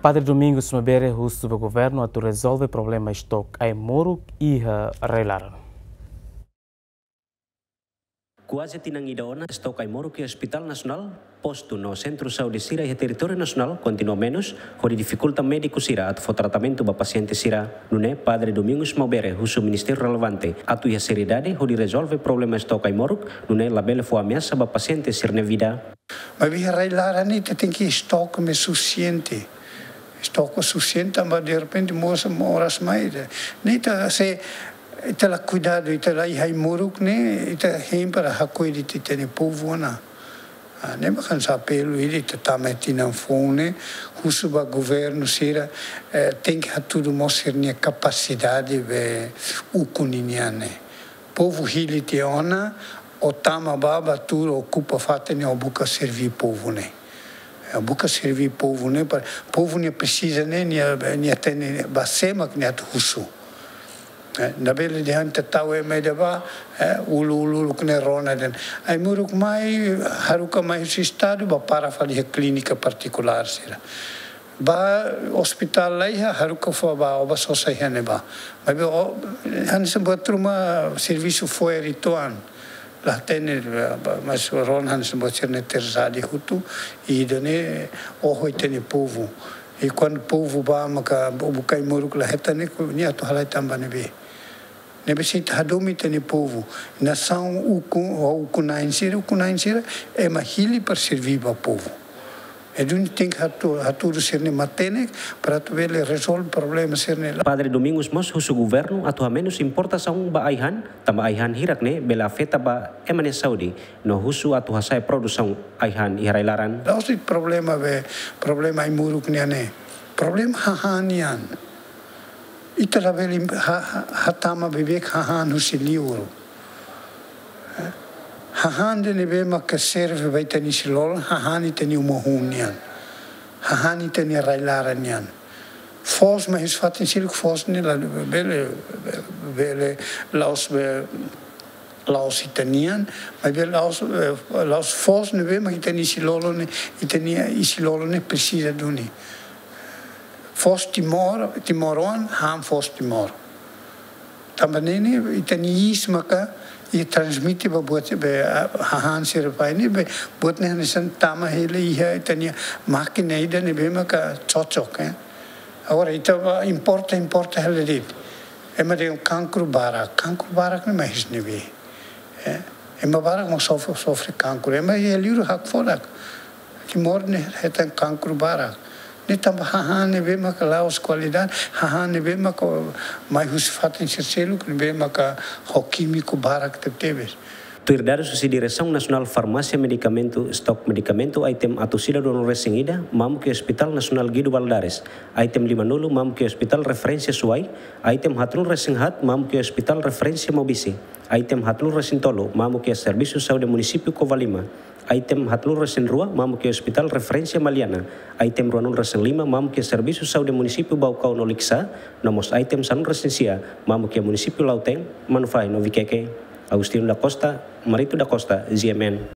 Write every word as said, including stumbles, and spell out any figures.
Padre Domingos Maubere husu ba governu atu rezolve problema estok ai-moruk iha rai-laran. Kuaze tinan ida ona, estok ai-moruk iha Hospital Nasionál, postu no sentru saúde sira iha territóriu nasionál kontinua menus, hodi difikulta médiku sira atu fó tratamentu ba pasiente sira. Nune'e Padre Domingos Maubere husu ministériu relevante atu iha seriedade hodi rezolve problema estok ai-moruk, nune'e labele fó ameasa ba pasiente sira-nia vida. Maibé iha rai-laran ne'e ita tenke estok ne'e sufisiente. Estok sufisiente tanba derrepente moras, moras mai. Ne'e ita se ita la kuidadu, ita la iha ai-moruk ne'e, ita hein para hakoi de'it ita-nia povu ona. Ah, ne'e mak hanesan apelu ida ita tama iha tinan foun ne'e, husu ba governu sira, eh, tenke hatudu mós sira-nia kapasidade be ukun ninian ne'e. Povu hili tiha ona, ó tama bá, bá tuur, ó okupa fatin ne'e, ó buka serví povu ne'e. Ó buka serví povu ne'e, para povu nia presiza ne'e, nia, nia hatene ba sé mak nia atu husu. Eh, labele dehan ita tau ema ida bá, eh, uluk-uluk ne'e rona de'it. Ai-moruk mai, haruka mai husi estadu, bá para fali iha klínika partikulár sira. Bá ospitál laiha, haruka fó bá, ó bá sosa iha ne'ebá. Maibé ó, hanesan buat ruma servisu fo'er uitoan. La hatene, bá, mas rona hanesan buat sira-ne'e terzadik hotu, ida-ne'e oho ita-nia povu. I kuandu povu bá maka buka ai-moruk la hetan ne'e, nia atu halai tanba ne'ebé. Ne'ebé se ita hadomi ita-nia povu. Nasaun ukun, ukun-na'in sira, ukun-na'in sira, ema hili para serví ba povu. Entaun tenke hatu-, hatudu sira-nia matenek, para atu bele rezolve problema sira-ne'e. Padre Domingos mós husu governu atu hamenus importasaun ba ai-han, tanba ai-han hirak ne'e bele afeta ba ema nia saúde, no husu atu hasa'e produsaun ai-han iha rai-laran. La'ós de'it problema be, problema ai-moruk nian ne'e. Problema hahán nian. Ita labele ha-, ha-, hatama beibeik hahán husi liur. Hahán ida ne'ebé maka serve ba ita-nia isin-lolon, hahán ita-nia uma hun nian. Hahán ita-nia rai-laran nian. Foos mai husi fatin seluk, foos ne'e labele, bele, la'ós be, la'ós ita-nian, maibé la'ós, eh, la'ós foos ne'ebé mak ita-nia isin-lolon ne'e, ita-nia isin-lolon ne'e presiza duni. Foos Timor, timoroan han foos Timor. Tanba ne'e ne'e, ita-nia iis maka, i transmite ba buat be, ah, hahán sira fali ne'e be, buat ne'e hanesan tama hela iha ita-nia mákina ida ne'ebé maka cocok, eh. Agora, ita bá importa, importa hela de'it. Ema dehan kankru barak, kankru barak ne'e mai husi ne'ebé. Eh, ema barak mak sofre, sofre kankru. Ema iha liur hakfodak. Timor ne'e hetan kankru barak. Ne'e tanba hahán ne'ebé maka la'ós kualidade, hahán ne'ebé maka mai husi fatin sira seluk, ne'ebé maka ho kímiku barak tebetebes. Tuir dadus husi Diresaun Nasionál Farmásia Medikamentu, estok medikamentu item atus ida ruanulu-resin-ida mamuk iha Hospital Nasionál Guido Valadares, item limanulu mamuk iha Hospital Referénsia Suai, item haatnulu-resin-haat mamuk iha Hospital Referénsia Maubisse, item haatnulu-resin-tolu mamuk iha Servisu Saúde Munisípiu Covalima, item haatnulu-resin-rua mamuk iha Hospital Referénsia Maliana, item ruanulu-resin-lima mamuk iha Servisu Saúde Munisípiu Baucau no Likisá, no mós item sanulu-resin-sia mamuk iha Munisípiu Lautém, Manufahi no Viqueque. Agostinho da Costa, Marito da Costa, G M N.